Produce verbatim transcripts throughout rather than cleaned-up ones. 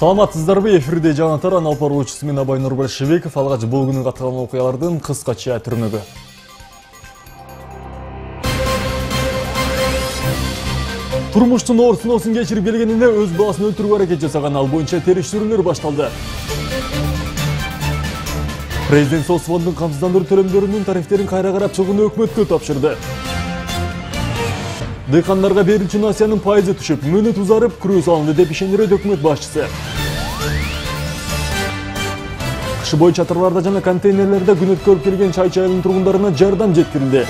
Саламатсыздарбы, эфирде жаңалыктар Анал Паручусу мен Абай Нурбашевиков. Алгач бул күнү каткан окуялардын кыскача түрмөгү. Турмуштун оор сыноосун кечирип келгенине өз баласын өлтүрүүгө аракет жасаган ал боюнча териштирүүлөр башталды. Президент соцфондун камсыздандыруу төлөмдөрүнүн тарифтерин кайра карап чыгууну өкмөткө тапшырды. Дыйкандарга берүүчү насыянын пайызы түшүп, мөөнөт узарып, күрөө салынды деп ишендирет өкмөт башчысы. Кышы бою чатырларда жана контейнерлерде күн өткөрүп келген чай чайылын тургундарына жардам жеткирилди.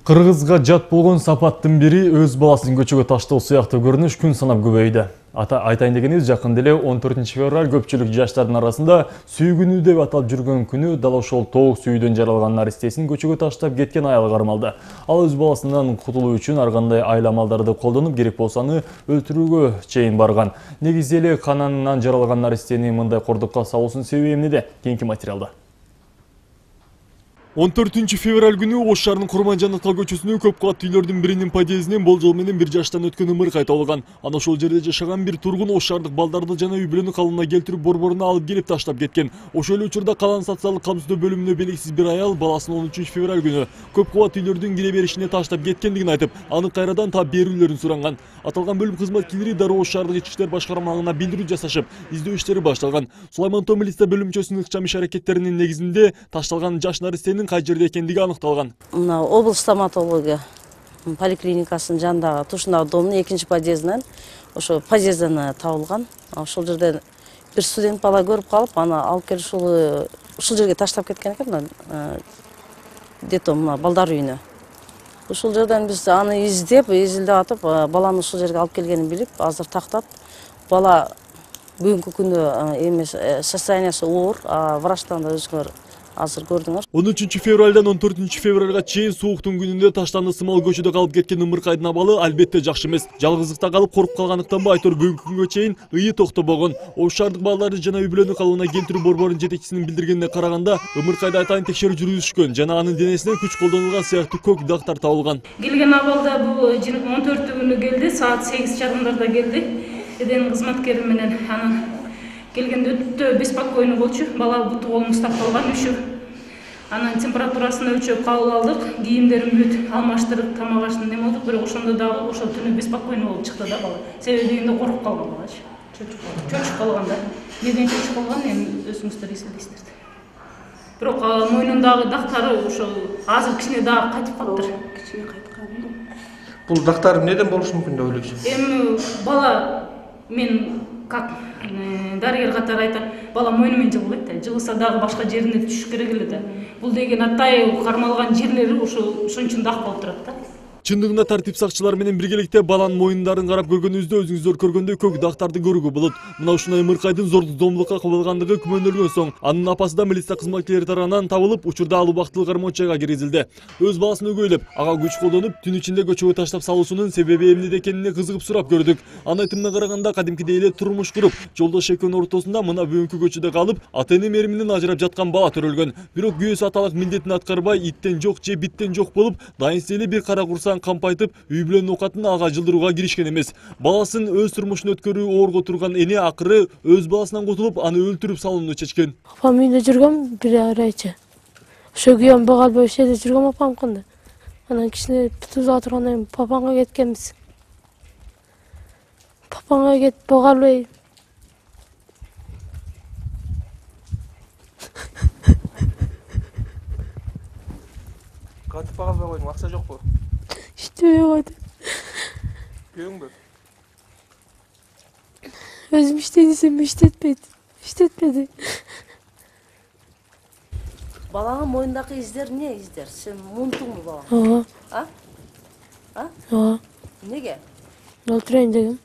Кыргызга жат болгон сапаттын бири өз баласын көчөгө таштоо сыяктуу көрүнүш күн санап көбөйдү. Ата айтайын дегенибиз, жакында эле он төртүнчү февраль көпчүлүк жаштардын арасында сүйгүнүү деп аталып жүргөн күнү дал ошол тоок сүйүүдөн жаралган наристесин көчөгө таштап кеткен аял кармалды. Ал өз баласынан кутулуу үчүн ар кандай айла амалдарды колдонуп, керек болсо аны өлтүрүүгө чейин барган. Негизи эле кананынан жаралган наристени мындай кордукка салуусунун себеби эмнеде? Кийинки материалда. он төртүнчү февраль күнү Ош шаарынын Курманжановка көчөсүнө көп кабаттуу үйлөрдүн биринин подъездинен болжол менен бир жаштан өткөн ымыркай табылган. Ана ошол жерде жашаган бир тургун Ош шаардык балдарды жана үй бүлөнү калыбына келтирип борборуна алып келип таштап кеткен. Ошол эле учурда Калан социалдык камсыздоо бөлүмүнө белгисиз бир аял баласын он үчүнчү февраль күнү көп кабаттуу үйлөрдүн кире беришине таштап кеткендигин айтып, аны кайрадан таап берүүлөрүн суранган. Аталган бөлүм кызматкерлери дароо Ош шаардык ички иштер башкармалыгына билдирүү жасашып, издөө иштери башталган. Сулайман Тоо милиция бөлүмчөсүнүн ыкчам иш аракеттеринин негизинде ташталган жаш наристенин кай жерде экендиги аныкталган. Мына облус стоматология поликлиникасынын жанындагы тушундагы домдун экинчи подъездинен ошо подъезден табылган. Ошол жерден бир студент бала көрүп калып, аны алып келип ушул ушул жерге таштап кеткен экен, мына детдом, мына балдар үйүнө. Ушул жерден биз аны издеп, изилдеп атып, баланы ушул жерге алып келгенин билип, азыр тактап, бала бүгүнкү күндө эмес состояниясы оор, врачтан да өзүңөр азыр көрдүңөр. он үчүнчү февралдан он төртүнчү февралга чейин сууктун күнүндө таштанды сымал көчөдө калып кеткен ымыркайдын абалы албетте жакшы эмес. Жалгыздыкта калып коруп калгандыктанбы, айтор бүгүнкү күнгө чейин ыйы токтобогон. Ош шаардык балдарды жана үй бүлөнү калыбына келтирүү борборунун жетекчисинин билдиргенине караганда, ымыркайда атайын текшерүү жүргүзүшкөн жана анын денесинен күч колдонулган сыяктуу көк дактар табылган. Келген абалда бул он төртү күнү келди, саат сегиз чарымдарда келди. Эден кызматкери менен анын келгенде өтө беспокойный болчу. Бала буту колун уктап калган, үшүп. Анын температурасын өлчөп кабыл алдык, кийимдерин бүт алмаштырып, тамак аштын неме болдук, бирок ошондо дагы ошол түнү беспокойный болуп чыкты да бала. Себеби дегенде коруп калган балачы. Чөчүп калган да. Неден чөчүп калган, эми өзүңүздөр эслейсиздер. Бирок мойнундагы дактары ошол азыр кичине дагы кайтып калыптыр. Кичине кайткан. Бул дактар эмнеден болушу мүмкүн деп ойлойсуз? Эми бала мен как дарыгер катары айтат, бала мойну менен жыгылбайт да, жыгылса дагы башка жерине түшүш керек эле да. Бул деген атайы кармалган жерлери ошо ошон үчүн дак болуп турат да. Чындыгында тартип сакчылары менен биргеликте баланын мойундарын карап көргөнүбүздө өзүңүздөр көргөндөй көк дактарды көрүүгө болот. Мына ушундай ымыркайдын зордук зомбулукка кабылгандыгы күмөндөлгөн соң, анын апасы да милиция кызматкерлери тарабынан табылып, учурда ал убактылуу кармоочайга киргизилди. Өз баласын өгөйлөп, ага күч колдонуп, түн ичинде көчөгө таштап салуусунун себеби эмнеде экенине кызыгып сурап көрдүк. Анын айтымына караганда, кадимкидей эле турмуш куруп, жолдош экөөнүн ортосунда мына бүгүнкү көчөдө калып, ата-эне мээриминен ажырап жаткан бала төрөлгөн. Бирок күйөөсү аталык милдетин аткарбай, иттен жок же биттен жок болуп, дайынсыз эле бир кара курсаң кампайтып, үй бүлөнүн оокатын ага жылдырууга киришкен эмес. Баласын өз турмушун өткөрүү оорго турган эне акыры өз баласынан кутулуп, аны өлтүрүп салууну чечкен. Апам үйүндө жүргөм бир айча. Ошо күйөөм бага албай ошол жерде жүргөм апамкында. Анан кичине тузга тургандан кийин папаңга кеткенбиз. Папаңга кетип бага албай. Кантип бага албай койдуң? Акча жокпу? İşte yok. Köyüңдө? Özüm iştediysem işletmedi. İşletmedi. Баланын мойнундагы издер не издер? Сен мунтуңбу бала? Ага. А? А? Ага. Неге? Өлтүрөйүн дегем.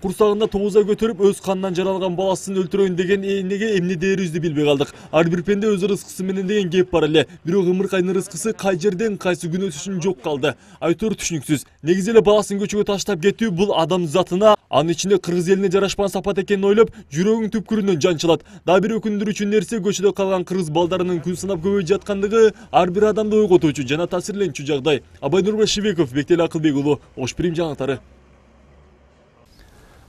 Курсагында тогуз ай көтөрүп, өз канынан жаралган баласын өлтүрөйүн деген энеге эмне дээрибизди билбей калдык. Ар бир пенде өз рызкысы менен деген кеп бар эле. Бирок ымыркайдын рызкысы кай жерден, кайсы күнөөсү үчүн жок калды. Айтор түшүнүксүз. Негизи эле баласын көчөгө таштап кетүү бул адам затына, анын ичинде кыргыз элине жарашпаган сапат экенин ойлоп, жүрөгүң түпкүрүнөн жанчылат. Дагы бир өкүндүрүүчү нерсе, көчөдө калган кыргыз балдарынын күн санап көбөйүп жаткандыгы ар бир адамды ойготуучу жана таасирленчү жагдай. Абай Нурбашевиков, Бектел Акылбек уулу, Ош Прим жаңалыктары.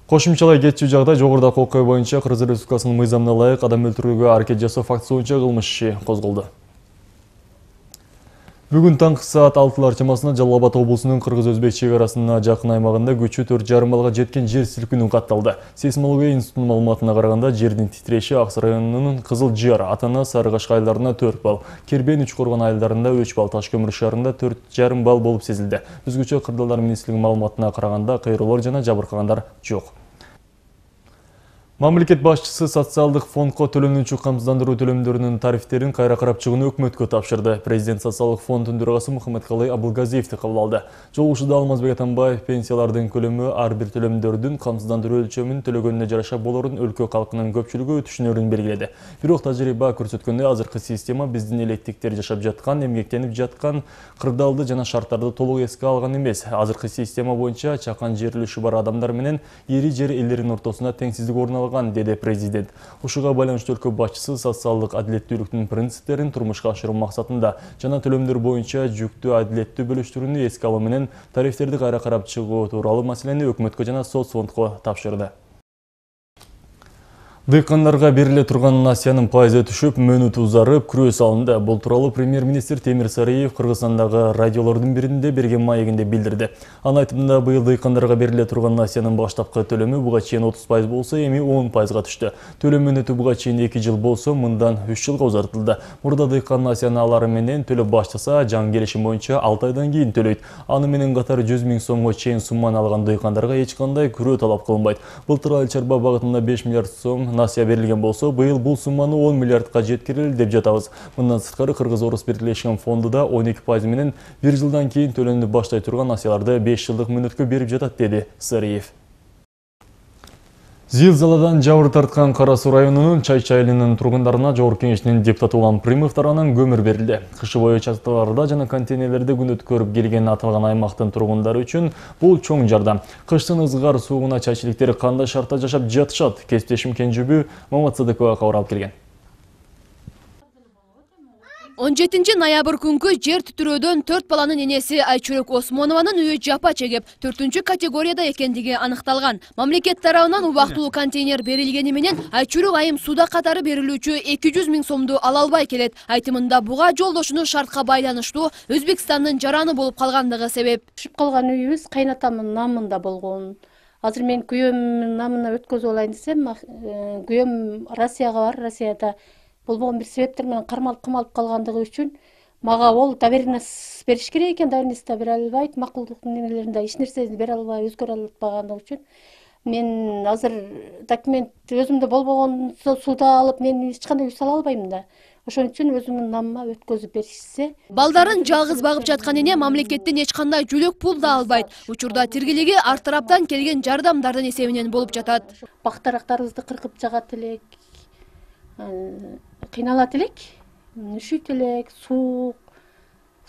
Кошумчалай кетчү жагда жогорудагы окуя боюнча Кыргыз Республикасынын мыйзамына ылайык адам өлтүрүүгө аракет жасоо фактысы боюнча кылмыш иши козголду. Бүгүн таңкы саат алтылар чамасында Жалал Абад облусунун Кыргыз-Өзбек чек арасына жакын аймагында күчү төрт жарым балга жеткен жер силкинүү катталды. Сейсмология институтунун маалыматына караганда жердин титиреши Аксы районунун Кызыл Жар, Атана, Сарыгаш айылдарында төрт балл, Кербен, Үч Коргон айылдарында үч балл, Таш көмүр шаарында төрт жарым балл болуп сезилди. Өзгөчө Кырдаалдар министрлигинин маалыматына караганда кыйроолор жана жабыркагандар жок. Мамлекет башчысы социалдык фондко төлөнүүчү камсыздандыруу төлөмдөрүнүн тарифтерин кайра карап чыгууну өкмөткө тапшырды. Президент социалдык фондунун төрагасы Мухаммедкалый Абылгазиевди кабыл алды. Жолугушууда Алмазбек Атамбаев пенсиялардын көлөмү ар бир төлөмдөрдүн камсыздандыруу өлчөмүн төлөгөнүнө жараша болорун өлкө калкынын көпчүлүгү түшүнөрүн белгиледи. Бирок тажрыйба көрсөткөндөй азыркы система биздин элеттиктер жашап жаткан, эмгектенип жаткан кырдаалды жана шарттарды толук эске алган эмес. Азыркы система боюнча чакан жер үлүшү бар адамдар менен ири жер элдеринин ортосунда теңсиздик орун алган, деди президент. Ушуга байланыштуу өлкө башчысы социалдык адилеттүүлүктүн принциптерин турмушка ашыруу максатында жана төлөмдөр боюнча жүктү адилеттүү бөлүштүрүүнү эске алуу менен тарифтерди кайра карап чыгуу тууралуу маселени өкмөткө жана соцфондко тапшырды. Дыйкандарга бериле турган насыянын пайызы түшүп, мөөнөтү узарып, күрөө салынды. Бул тууралуу премьер-министр Темир Сариев Кыргызстандагы радиолордун биринде берген маегинде билдирди. Анын айтымында быйыл дыйкандарга бериле турган насыянын баштапкы төлөмү буга чейин отуз пайыз болсо, эми он пайызга түштү. Төлөм мөөнөтү буга чейин эки жыл болсо, мындан үч жылга узартылды. Мурда дыйкан насыяны алары менен төлөп баштаса, жаңы келишим боюнча алты айдан кийин төлөйт. Аны менен катар жүз миң сомго чейин сумманы алган дыйкандарга эч кандай күрөө талап кылынбайт. Былтыр айыл чарба багытында беш миллиард сом насыя берилген болсо, быйыл бул сумманы он миллиардка жеткирели деп жатабыз. Мындан сырткары Кыргыз-Орус бирлешкен фонду да он эки пайыз менен бир жылдан кийин төлөмдү баштай турган насыяларды беш жылдык мөөнөткө берип жатат, деди Сариев. Зилзаладан жабыр тарткан Кара Суу районунун Чайчы айылынын тургундарына Жогорку Кеңештин депутаты улан Примов тарабынан көмүр берилди. Кышы бою чатырларда жана контейнерлерде күн өткөрүп келген аталган аймактын тургундары үчүн бул чоң жардам. Кыштын ызгар суугуна чайчылыктар кандай шартта жашап жатышат? Кесиптешим Кенжүбү Мамат Садыкова кабар алып келген. он жетинчи ноябрь күнгү жер титирөөдөн төрт баланын энеси Айчүрөк Осмонованын үйү жапа чегип, төртүнчү категорияда экендиги аныкталган. Мамлекет тарабынан убактылуу контейнер берилгени менен Айчүрөк айым суда катары берилүүчү эки жүз миң сомду ала албай келет. Айтымында буга жолдошунун шартка байланыштуу Өзбекстандын жараны болуп калгандыгы себеп. Түшүп калган үйүбүз кайнатамдын намында болгон. Азыр мен күйөөмдүн намына өткөзүп алайын десем, күйөөм Россияга бар, Россияда болбогон бир себептер менен кармалып камалып калгандыгы үчүн мага ол доверенность бериш керек экен, доверенность бере албайт, макулдуктун немелеринде эч нерсени бере албай, өзгөрө албагандыгы үчүн мен азыр документ өзүмдө болбогон суда алып, мен эч кандай үй сала албайм да. Ошон үчүн өзүмдүн намыма өткөзүп беришсе. Балдарын жалгыз багып жаткан эне мамлекеттен эч кандай жүлөк пул да албайт. Учурда тиргелиги ар тараптан келген жардамдардын эсебинен болуп жатат. Бактарактарыбызды кыркып жагат элек, кыйналат элек, үшүйт элек, суук,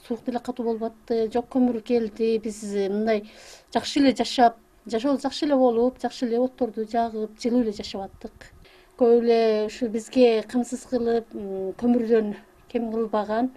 суук деле катуу болуп атты, жок көмүр келди. Биз мындай жакшы эле жашап, жашоо жакшы эле болуп, жакшы эле отторду жагып, жылуу эле жашап аттык. Көп эле ушу бизге камсыз кылып, көмүрдөн кем кылбаган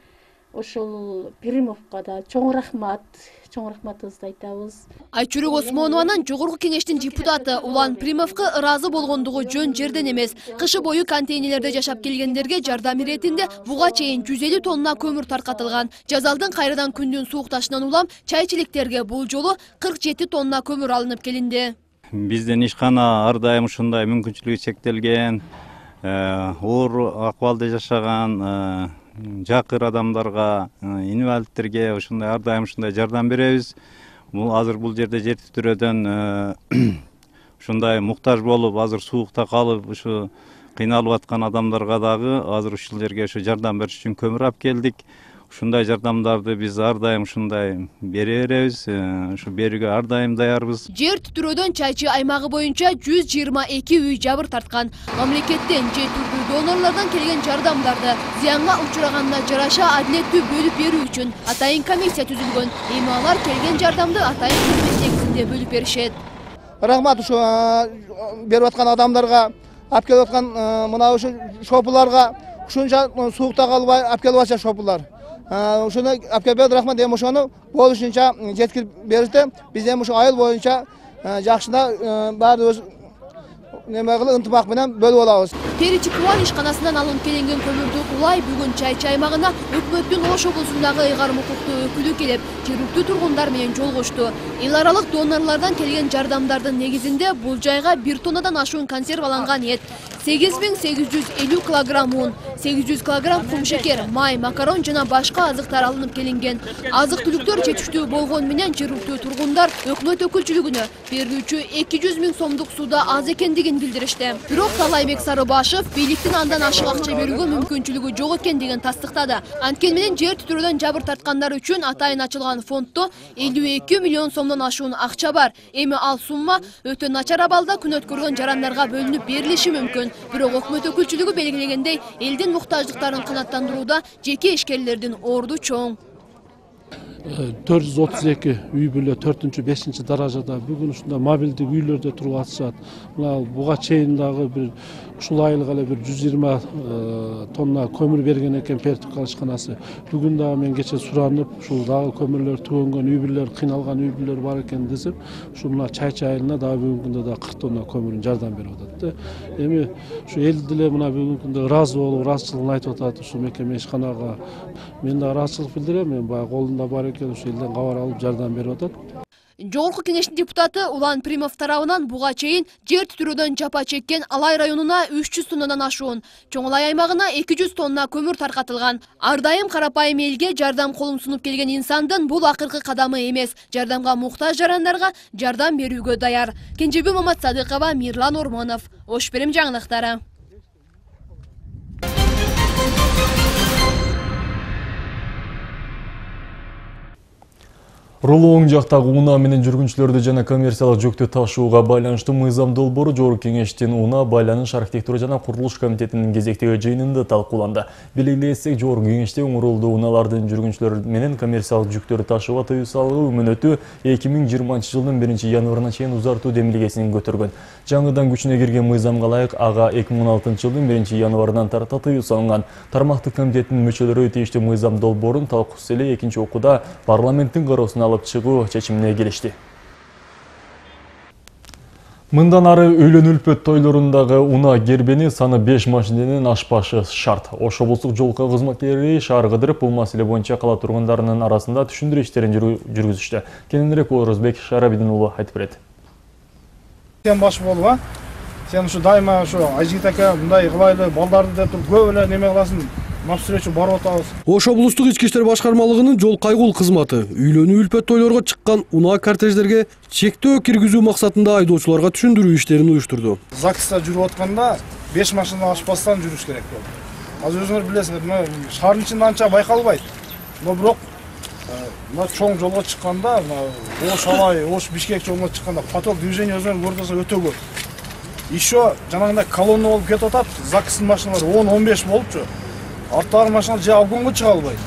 ошол Примовго да чоң рахмат, чоң рахматыбызды айтабыз. Айчүрөк Осмонованын Жогорку Кеңештин депутаты Улан Примовго ыраазы болгондугу жөн жерден эмес. Кышы бою контейнерлерде жашап келгендерге жардам иретинде буга чейин жүз элүү тонна көмүр таркатылган. Жазалдын кайрадан күндүн суукташынан улам чайчылыктарга бул жолу кырк жети тонна көмүр алынып келинди. Биздин ишкана ар дайым ушундай мүмкүнчүлүгү чектелген, оор акыбалда жашаган жакыр адамдарга, инвалидтерге ушундай ар дайым ушундай жардам беребиз. Бул азыр бул жерде жер титирөөдөн ушундай муктаж болуп, азыр суукта калып, ушу кыйналып аткан адамдарга дагы азыр ушул жерге ушу жардам бериш үчүн көмүр алып келдик. Ушундай жардамдарды биз ар дайым ушундай бере беребиз, ушу берүүгө ар дайым даярбыз. Жер титирөөдөн Чайчы аймагы боюнча жүз жыйырма эки үй жабыр тарткан. Мамлекеттен же түрдүү донорлордон келген жардамдарды зыянга учураганда жараша адилеттүү бөлүп берүү үчүн атайын комиссия түзүлгөн. Эми алар келген жардамды атайын комиссия негизинде бөлүп беришет. Рахмат ушу берип аткан адамдарга, алып келип аткан мына ушу шопуларга, ушунча суукта калбай алып келип атышат шопулар. Ушуну алып келип рахмат, эми ошону болушунча жеткирип беришти. Биз эми ушу айыл боюнча жакшына баары неме кылып ынтымак менен бөлүп алабыз. Перичи Кубан ишканасынан алынып келинген көмүрдү улай бүгүн Чайчы аймагына өкмөттүн Ош облусундагы ыйгарым укуктуу өкүлү келип, жергиликтүү тургундар менен жолугушту. Эл аралык донорлордон келген жардамдардын негизинде бул жайга бир тоннадан ашуун консерваланган эт, сегиз миң сегиз жүз элүү килограмм un, сегиз жүз килограмм кумшекер, май, макарон жана башка азыктар алынып келинген. Азык-түлүктөр жетиштүү болгон менен жергиликтүү тургундар өкмөт өкүлчүлүгүнө берүүчү эки жүз миң сомдук сууда аз экендигин билдиришти. Бирок Талайбек Сарыбашев бийликтин андан ашык акча берүүгө мүмкүнчүлүгү жок экендигин тастыктады. Анткени менен жер титирөөдөн жабыр тарткандар үчүн атайын ачылган фонддо элүү эки миллион сомдон ашуун акча бар. Эми ал сумма өтө начар абалда күн өткөргөн жарандарга бөлүнүп берилиши мүмкүн. Бирок өкмөт өкүлчүлүгү белгилегендей, элдин муктаждыктарын канааттандырууда жеке ишкерлердин орду чоң. төрт жүз отуз эки үй бүлө төртүнчү бешинчи даражада бүгүн ушундай мобилдик үйлөрдө туруп атышат. Мына буга чейин дагы бир ушул айылга эле бир жүз жыйырма тонна көмүр берген экен Пертук ишканасы. Бүгүн дагы мен кече суранып, ушул дагы көмүрлөр түгөнгөн үй бүлөлөр, кыйналган үй бүлөлөр бар экен десип, ушул мына Чайчы айылына дагы бүгүнкү күндө дагы кырк тонна көмүрүн жардам берип атат. Эми ушу эл деле мына бүгүнкү күндө ыраазы болуп, ыраазычылыгын айтып атат ушул мекеме ишканага. Мен да ыраазычылык билдирем, мен баягы колумда бар экен, ушу элден кабар алып жардам берип атат. Жогорку кеңештин депутаты Улан Примов тарабынан буга чейин жер титирөөдөн жапа чеккен Алай районуна үч жүз тоннадан ашуун, Чоңулай аймагына эки жүз тонна көмүр таркатылган. Ар дайым карапайым элге жардам колун сунуп келген инсандын бул акыркы кадамы эмес. Жардамга муктаж жарандарга жардам берүүгө даяр. Кенжебүй Маматсадыкова, Мирлан Ормонов, Ош Берем жаңылыктары. Рулуу оң жактагы унаа менен жүргүнчүлөрдү жана коммерциялык жүктү ташууга байланыштуу мыйзам долбоору Жогорку Кеңештин унаа, байланыш, архитектура жана курулуш комитетинин кезектеги жыйынында талкууланды. Белгилесек, Жогорку Кеңеште уңурулду унаалардын жүргүнчүлөр менен коммерциялык жүктөрдү ташууга тыюу салыгы мөөнөтү эки миң жыйырманчы жылдын биринчи январына чейин узартуу демилгесин көтөргөн. Жаңыдан күчүнө кирген мыйзамга ылайык ага эки миң он алтынчы жылдын биринчи январынан тарта тыюу салынган. Тармактык комитеттин мүчөлөрү тиештүү мыйзам долбоорун талкуусuz эле экинчи окууда парламенттин кароосуна алып чыгуу чечимине келишти. Мындан ары үйлөнүү үлпөт тойлорундагы унаа гербени саны беш машиненен ашпашы шарт. Ош облустук жол кайгыл кызматкерлери шаар кыдырып, бул маселе боюнча кала тургундарынын арасында түшүндүрүү иштерин жүргүзүштү. Кененирээк Орозбек Шарабидин уулу айтып берет. Сен баш болуп, а? Сен ушу дайыма ушу Айжигит ака мындай кылайлы, балдарды деп туруп көп эле неме кыласың. Навстречу барып атабыз. Ош облустук ички иштер башкармалыгынын жол кайгыл кызматы үйлөнүү үлпөт тойлорго чыккан унаа кортеждерге чектөө киргизүү максатында айдоочуларга түшүндүрүү иштерин уюштурду. ЗАГСта жүрүп атканда беш машина ашпастан жүрүш керек болду. Азыр өзүңөр билесиңер, мына шаардын ичинде анча байкалбайт. Но бирок мына чоң жолго чыкканда, мына Ош Алай, Ош Бишкек жолуна чыкканда поток движение өзүңөр көрдүңөр өтө көп. Еще жанагындай колонна болуп кетип атат, ЗАГСтын машиналары он он беш болупчу. Арттагы машина же обгонго чыга албайт.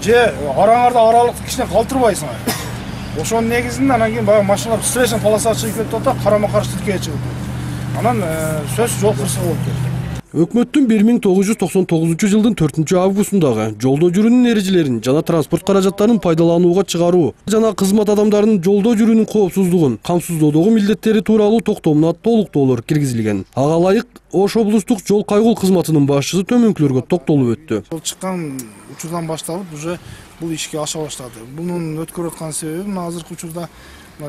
Же араңарда аралыкты кичине калтырбайсың. Ошонун негизинде анан кийин баягы машиналар встречный полосага чыгып кетип атат, карама каршы тилкеге чыгып. Анан сөз жол кырсыгы болуп кетти. Өкмөттүн бир миң тогуз жүз токсон тогузунчу жылдын төртүнчү августундагы жолдо жүрүүнүн эрежелерин жана транспорт каражаттарын пайдаланууга чыгаруу жана кызмат адамдарынын жолдо жүрүүнүн коопсуздугун камсыздоодогу милдеттери тууралуу токтомуна толуктоолор киргизилген. Ага ылайык Ош облустук жол кайгыл кызматынын башчысы төмөнкүлөргө токтолуп өттү. Чыккан учурдан башталып уже бул ишке аша баштады. Бунун өткөрүп аткан себеби мына азыркы учурда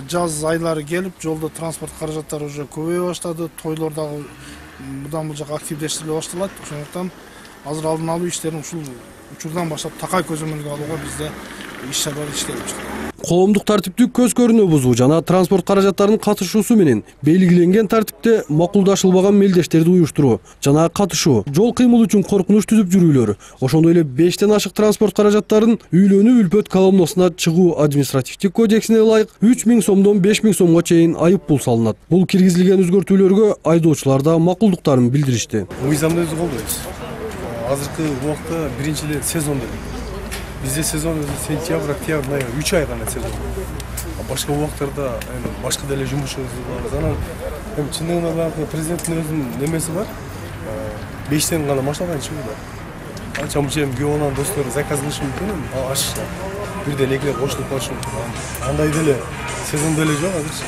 жаз айлары келип, жолдо транспорт каражаттары уже көбөйө баштады, тойлор дагы будан бул жака активдештириле башталат. Ошондуктан азыр алдын алуу иштерин ушул учурдан баштап такай көзөмөлгө алууга бизде иш-чаралар иштелип жатат. Коомдук тартиптү көз көрүнө бузуу жана транспорт каражаттарынын катышуусу менен белгиленген тартипте макулдашылбаган мелдештерди уюштуруу жана катышуу, жол кыймыл үчүн коркунуч түзүп жүрүүлөр, ошондой эле бештен ашык транспорт каражаттарын үйлөнүү үлпөт колоннасына чыгуу административдик кодексине ылайык үч миң сомдон беш миң сомго чейин айып пул салынат. Бул киргизилген өзгөртүүлөргө айдоочулар да макулдуктарын билдиришти. Мыйзамды өзү колдойбуз. Азыркы убакта биринчи эле сезон деп. Бизде сезон сентябрь, октябрь, ноябрь үч ай гана сезон. Башка убактарда башка деле жумушубуз бар. Анан эми чындыгында баягы президенттин өзүнүн немеси бар. бештен гана машинадан чыгуу бар. Анча мынча эми күйөө баланын достору заказ кылышы мүмкүн, ашышат. бирден экилеп кошулуп калышып андай деле сезон деле жок азырчы.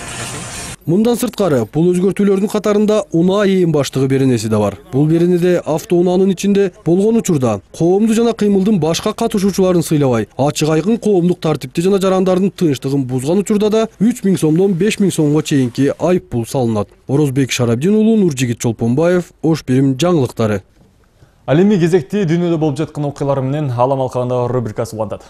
Мындан сырткары бул өзгөртүүлөрдүн катарында унаа ээн баштыгы беренеси да бар. Бул беренеде автоунаанын ичинде болгон учурда коомду жана кыймылдын башка катышуучуларын сыйлабай, ачык айкын коомдук тартипти жана жарандардын тынчтыгын бузган учурда да үч миң сомдон беш миң сомго чейинки айып пул салынат. Орозбек Шарабдин уулу, Нуржигит Чолпонбаев, Ош Бирим жаңылыктары. Ал эми кезекти дүйнөдө болуп жаткан окуялар менен Алам алкагында рубрикасы улантат.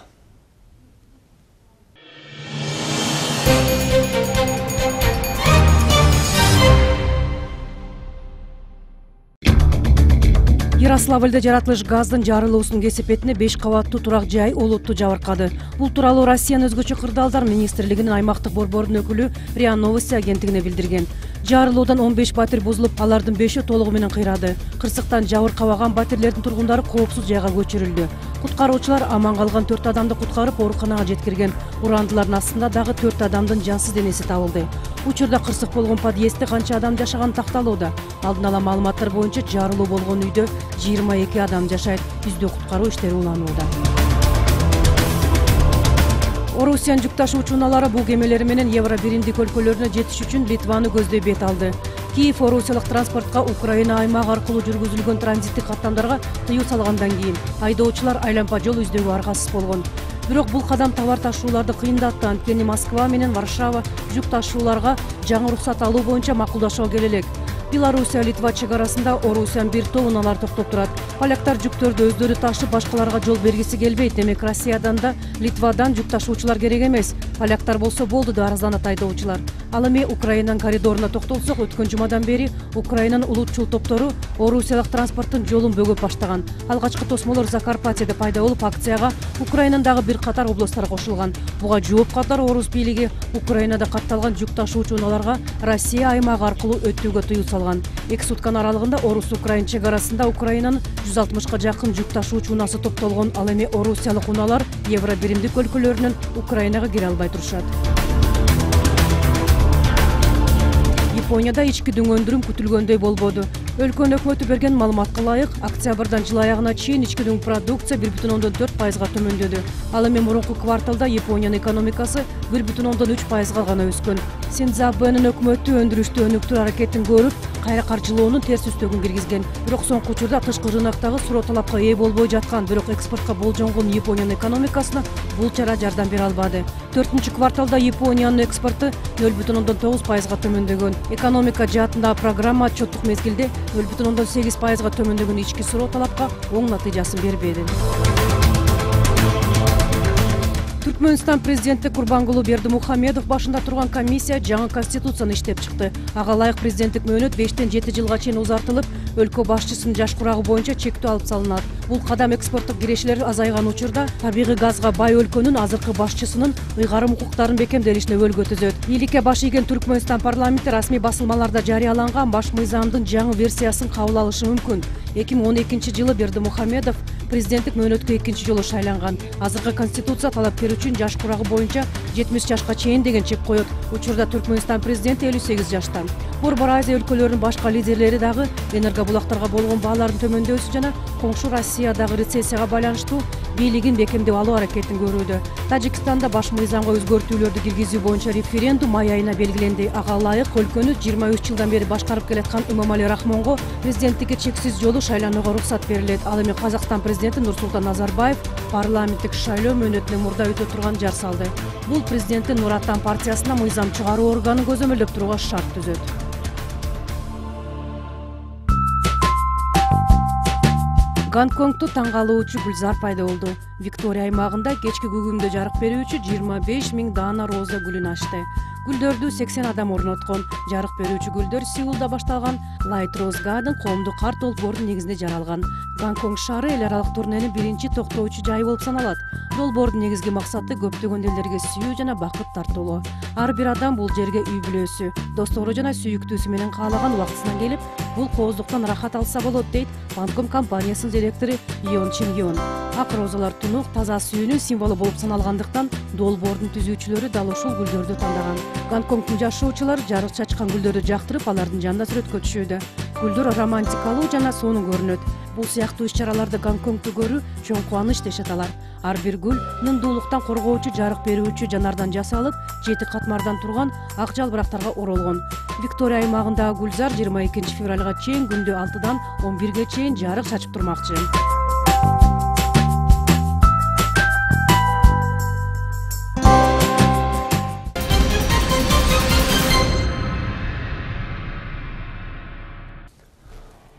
Ярославльда жаратылыш газдын жарылуусунун кесепетине беш кабаттуу турак жай олутту жабыркады. Бул тууралуу Россиянын өзгөчө кырдаалдар министрлигинин аймактык борборунун өкүлү РИА Новости агенттигине билдирген. Жарылуудан он беш батир бузулуп, алардын бешөө толугу менен кыйрады. Кырсыктан жабыркабаган батирлердин тургундары коопсуз жайга көчүрүлдү. Куткаруучулар аман калган төрт адамды куткарып, ооруканага жеткирген. Урандылардын астында дагы төрт адамдын жансыз денеси табылды. Учурда кырсык болгон подъездде канча адам жашаганы такталууда. Алдын ала маалыматтар боюнча жарылуу болгон үйдө жыйырма эки адам жашайт. Издөө куткаруу иштери уланууда. Орусиянын жүк ташуучу унаалары бул кемелери менен Евро биримдик өлкөлөрүнө жетиш үчүн Литваны көздөй бет алды. Киев орусиялык транспортко Украина аймагы аркылуу жүргүзүлгөн транзиттик каттамдарга тыюу салгандан кийин айдоочулар айлампа жол издөөгө аргасыз болгон. Бирок бул кадам товар ташууларды кыйындатты, анткени Москва менен Варшава жүк ташууларга жаңы уруксат алуу боюнча макулдашууга келе элек. Белоруссия Литва чек арасында Орусиянын бир топ унаалар токтоп турат. Поляктар жүктөрдү өздөрү ташып, башкаларга жол бергиси келбейт. Демек Россиядан да Литвадан жүк ташуучулар керек эмес. Поляктар болсо болду деп арызданат айдоочулар. Ал эми Украинанын коридоруна токтолсок, өткөн жумадан бери Украинанын улутчул топтору орусиялык транспорттун жолун бөгөп баштаган. Алгачкы тосмолор Закарпатьеде пайда болуп, акцияга Украинанын дагы бир катар областтары кошулган. Буга жооп катары орус бийлиги Украинада катталган жүк ташуучу унааларга Россия аймагы аркылуу өтүүгө тыюу салган. Эки сутканын аралыгында орус-украин чек арасында Украинанын жүз алтымышка жакын жүк ташуучу унаасы топтолгон. Ал эми орусиялык унаалар Евро биримдик өлкөлөрүнөн Украинага кире албай турушат. Японияда ички дүңөндүрүм күтүлгөндөй болбоду. Өлкөнүн өкмөтү берген маалыматка ылайык, октябрдан жыл аягына чейин ички дүң продукция бир бүтүн ондон төрт пайызга төмөндөдү. Ал эми мурунку кварталда Япониянын экономикасы бир бүтүн ондон үч пайызга гана өскөн. Синдзабэнин өкмөтү өндүрүштү өнүктүрүү аракетин көрүп, кайра каржылоонун терс үстөгүн киргизген. Бирок соңку учурда тышкы рыноктогу суроо талапка ээ болбой жаткан, бирок экспортко болжонгон Япониянын экономикасына бул чара жардам бере албады. төртүнчү кварталда Япониянын экспорту нөл бүтүн ондон тогуз пайызга төмөндөгөн. Экономика жаатындагы программа отчеттук мезгилде нөл бүтүн ондон сегиз пайызга төмөндөгөн ички суроо талапка оң натыйжасын бербеди. Түркмөнстан президенти Курбангулу Бердимухамедов башында турган комиссия жаңы конституцияны иштеп чыкты. Ага ылайык президенттик мөөнөт бештен жети жылга чейин узартылып, өлкө башчысынын жаш курагы боюнча чектөө алып салынат. Бул кадам экспорттук кирешелер азайган учурда табигый газга бай өлкөнүн азыркы башчысынын ыйгарым укуктарын бекемделишине өбөлгө түзөт. Бийликке баш ийген Түркмөнстан парламенти расмий басылмаларда жарыяланган баш мыйзамдын жаңы версиясын кабыл алышы мүмкүн. эки миң он экинчи жылы Бердимухамедов президенттик мөөнөткө экинчи жолу шайланган. Азыркы конституция талапкер үчүн жаш курагы боюнча жетимиш жашка чейин деген чек коет. Учурда Түркмөнстан президенти элүү сегиз жашта. Борбор Азия өлкөлөрүнүн башка лидерлери дагы энергобулактарга болгон баалардын төмөндөшү жана коңшу Россиядагы рецессияга байланыштуу бийлигин бекемдеп алуу аракетин көрүүдө. Тажикстанда баш мыйзамга өзгөртүүлөрдү киргизүү боюнча референдум май айына белгиленди. Ага ылайык өлкөнү жыйырма үч жылдан бери башкарып келаткан Имамали Рахмонго президенттикке чексиз жолу шайланууга уруксат берилет. Ал эми Казакстан президенти Нурсултан Назарбаев парламенттик шайлоо мөөнөтүнөн мурда өтө турган жар салды. Бул президенттин Нур Отан партиясына мыйзам чыгаруу органын көзөмөлдөп турууга шарт түзөт. Гонконгдо таң калуучу гүлзар пайда болду. Виктория аймагында кечки күгүмдө жарык берүүчү жыйырма беш миң даана роза гүлүн ачты. Гүлдөрдү сексен адам орноткон. Жарык берүүчү гүлдөр Сеулда башталган Light Rose Garden коомдук кар долбоордун негизинде жаралган. Гонконг шаары эл аралык турненин биринчи токтоочу жайы болуп саналат. Долбоордун негизги максаты көптөгөн элдерге сүйүү жана бакыт тартуулоо. Ар бир адам бул жерге үй бүлөсү, достору жана сүйүктүүсү менен каалаган убактысынан келип, бул кооздуктан рахат алса болот дейт Банком компаниясынын директору Йон Чин Йон. Ак розалар тунук, таза сүйүүнүн символу болуп саналгандыктан долбоордун түзүүчүлөрү дал ушул гүлдөрдү тандаган. Гонконгдун жашоочулары жарык чачкан гүлдөрдү жактырып, алардын жанында сүрөткө түшүүдө. бүткүлдөр романтикалуу жана сонун көрүнөт. Бул сыяктуу иш-чараларды Гонконгдо көрүү чоң кубаныч дешет алар. Ар бир гүл нымдуулуктан коргоочу, жарык берүүчү жанардан жасалып, жети катмардан турган ак жалбырактарга оролгон. Виктория аймагындагы гүлзар жыйырма экинчи февралга чейин күндө алтыдан он бирге чейин жарык чачып турмакчы.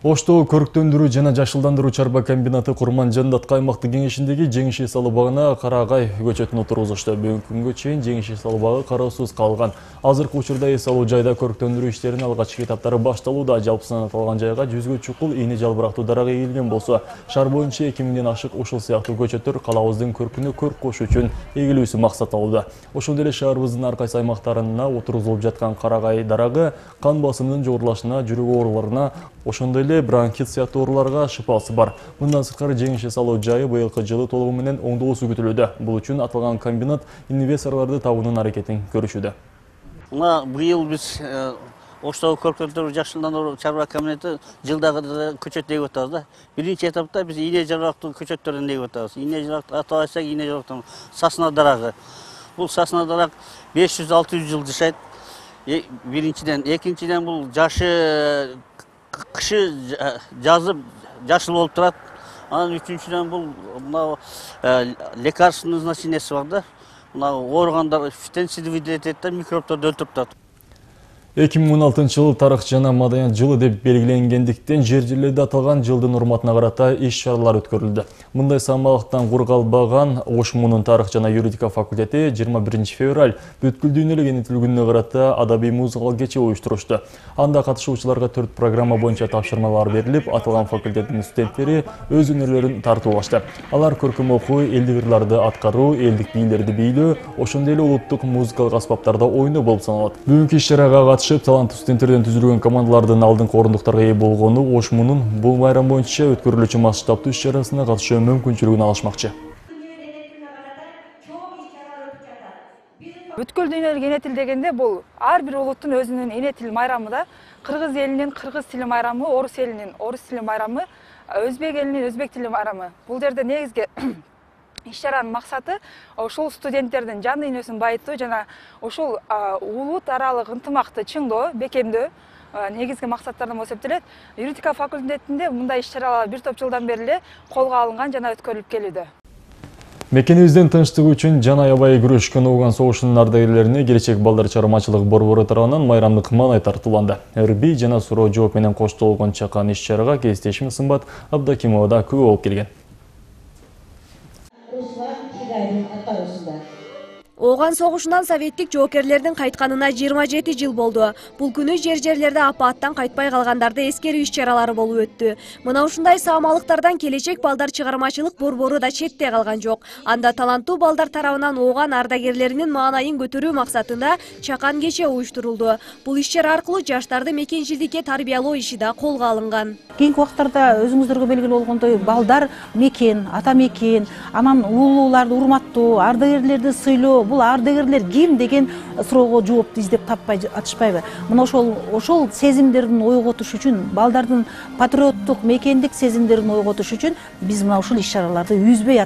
Оштогу көрктөндүрүү жана жашылдандыруу чарба комбинаты Курман Жандатка аймактык кеңешиндеги жеңиш эс алуу багына карагай көчөтүн отургузушту. Бүгүнкү күнгө чейин жеңиш эс алуу багы кароосуз калган. Азыркы учурда эс алуу жайда көрктөндүрүү иштеринин алгачкы этаптары башталууда. Жалпысынан аталган жайга жүзгө чукул ийне жалбырактуу дарак эгилген болсо, шаар боюнча эки миңден ашык ушул сыяктуу көчөттөр калабыздын көркүнө көрк кошуу үчүн эгилүүсү максат алууда. Ошондой эле шаарыбыздын ар кайсы аймактарына отургузулуп жаткан карагай дарагы кан басымынын жогорулашына, жүрөк ооруларына, ошондой эле бронхит сыяктуу ооруларга шыпасы бар. Мындан сырткары жеңиш эс алуу жайы быйылкы жылы толугу менен оңдоосу күтүлүүдө. Бул үчүн аталган комбинат инвесторлорду табуунун аракетин көрүшүүдө. Мына быйыл биз Оштогу көрктөндүрүү жашылдандыруу чарба комбинаты жылдагы көчөт эгип атабыз да. Биринчи этапта биз ийне жалбырактуу көчөттөрдөн эгип атабыз. Ийне жалбырак атап айтсак, ийне жалбырактын сасна дарагы. Бул сасна дарак беш жүз алты жүз жыл жашайт. Биринчиден, экинчиден бул жашы кышы жазып жашыл болуп турат. Анан үчүнчүдөн бул мына лекарственный значениеси бар да. Мына ооругандар фитонцид выделять этет да, микробдорду өлтүрүп турат. эки миң он алтынчы жыл тарых жана маданият жылы деп белгиленгендиктен жер жерлерде аталган жылдын урматына карата иш-чаралар өткөрүлдү. Мындай самалыктан кургалбаган Ош муунун тарых жана юридика факультети жыйырма биринчи февраль бүткүл дүйнөлүк эне тил күнүнө карата адабий музыкалык кече уюштурушту. Анда катышуучуларга төрт программа боюнча тапшырмалар берилип, аталган факультеттин студенттери өз өнөрлөрүн тартуулашты. Алар көркөм окуу, элдик ырларды аткаруу, элдик бийлерди бийлөө, ошондой эле улуттук музыкалык аспаптарда ойноо болуп саналат. Бүгүнкү иш-чарага катышып, таланттуу студенттерден түзүлгөн командалардын алдыңкы орундуктарга ээ болгону Ош муунун бул байрам боюнча өткөрүлүүчү масштабтуу иш-чарасына катышуу мүмкүнчүлүгүн алышмакчы. Бүткүл дүйнөлүк эне тил дегенде бул ар бир улуттун өзүнүн эне тил майрамы да. Кыргыз элинин кыргыз тили майрамы, орус элинин орус тили майрамы, өзбек элинин өзбек тили майрамы. Бул жерде негизги иш-чаранын максаты ушул студенттердин жан дүйнөсүн байытуу жана ушул улут аралык ынтымакты чыңдоо, бекемдөө негизги максаттардан болуп эсептелет. Юридика факультетинде мындай иш-чаралар бир топ жылдан бери эле колго алынган жана өткөрүлүп келүүдө. Мекенибиздин тынчтыгы үчүн жан аябай күрөшкөн Ооган согушунун ардагерлерине келечек балдар чыгармачылык борбору тарабынан майрамдык маанай тартууланды. Эрби жана суроо жооп менен коштолгон чакан иш-чарага кесиптешим Сымбат Абдакимова да күбө болуп келген. Ооган согушунан советтик жоокерлердин кайтканына жыйырма жети жыл болду. Бул күнү жер-жерлерде апааттан кайтпай калгандарды эскерүү иш-чаралары болуп өттү. Мына ушундай саамалыктардан келечек балдар чыгармачылык борбору да четте калган жок. Анда таланттуу балдар тарабынан Ооган ардагерлеринин маанайын көтөрүү максатында чакан кече уюштурулду. Бул иш-чара аркылуу жаштарды мекенчилдикке тарбиялоо иши да колго алынган. Кийинки убактарда өзүңүздөргө белгилүү болгондой балдар мекен, ата мекен, анан улууларды урматтоо, ардагерлерди сыйлоо, бул ардагерлер ким деген суроого жоопту издеп таппай атышпайбы. Мына ошол ошол сезимдерин ойготуш үчүн, балдардын патриоттук, мекендик сезимдерин ойготуш үчүн биз мына ушул иш-чараларды үзбөй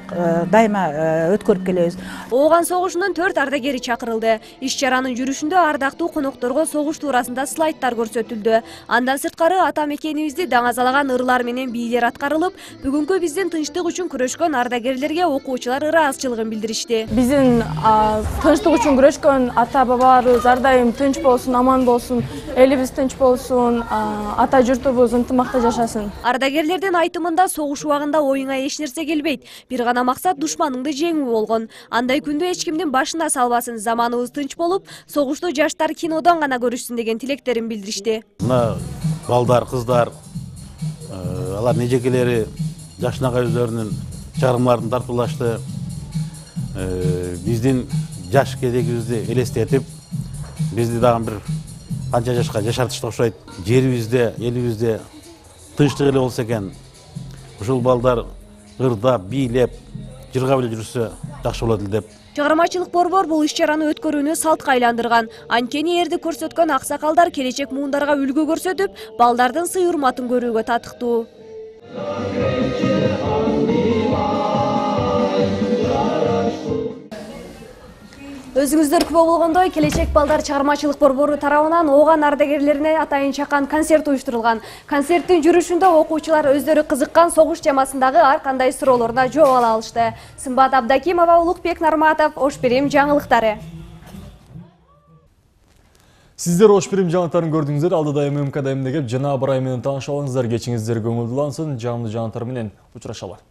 дайыма өткөрүп келебиз. Ооган согушунун төрт ардагери чакырылды. Иш-чаранын жүрүшүндө ардактуу конокторго согуш туурасында слайдтар көрсөтүлдү. Андан сырткары ата мекенибизди даңазалаган ырлар менен бийлер аткарылып, бүгүнкү биздин тынчтык үчүн күрөшкөн ардагерлерге окуучулар ыраазычылыгын билдиришти. Биздин тынчтык үчүн күрөшкөн ата бабаларыбыз ар дайым тынч болсун, аман болсун, элибиз тынч болсун, ата журтубуз ынтымакта жашасын. Ардагерлердин айтымында согуш убагында оюңа эч нерсе келбейт. Бир гана максат душманыңды жеңүү болгон. Андай күндө эч кимдин башына салбасын, заманыбыз тынч болуп, согушту жаштар кинодон гана көрүшсүн деген тилектерин билдиришти. Мына балдар, кыздар, алар нежекелери жашынакай өздөрүнүн чыгармаларын тартуулашты. Биздин жаш кезегибизди элестетип, бизди дагы бир канча жашка жашартышты окшойт. Жерибизде, элибизде тынчтык эле болсо экен. Ушул балдар ырдап, бийлеп, жыргап эле жүрсө жакшы болот эле деп Чыгармачылык борбор бул иш-чараны өткөрүүнү салтка айландырган. Анткени эрди көрсөткөн аксакалдар келечек муундарга үлгү көрсөтүп, балдардын сый-урматын көрүүгө татыктуу. Өзүңүздөр күбө болгондой, келечек балдар чыгармачылык борбору тарабынан ооган ардагерлерине атайын чакан концерт уюштурулган. Концерттин жүрүшүндө окуучулар өздөрү кызыккан согуш темасындагы ар кандай суроолоруна жооп ала алышты. Сымбат Абдакимова, Улукбек Нарматов, Ош Бирим жаңылыктары. Сиздер Ош Бирим жаңылыктарын көрдүңүздөр. Алдыда эм эм ка да эмне кеп жана Абрай менен таанышып алыңыздар. Кечиңиздер көңүлдүү улансын. Жамдуу жаңылыктар менен учурашалы.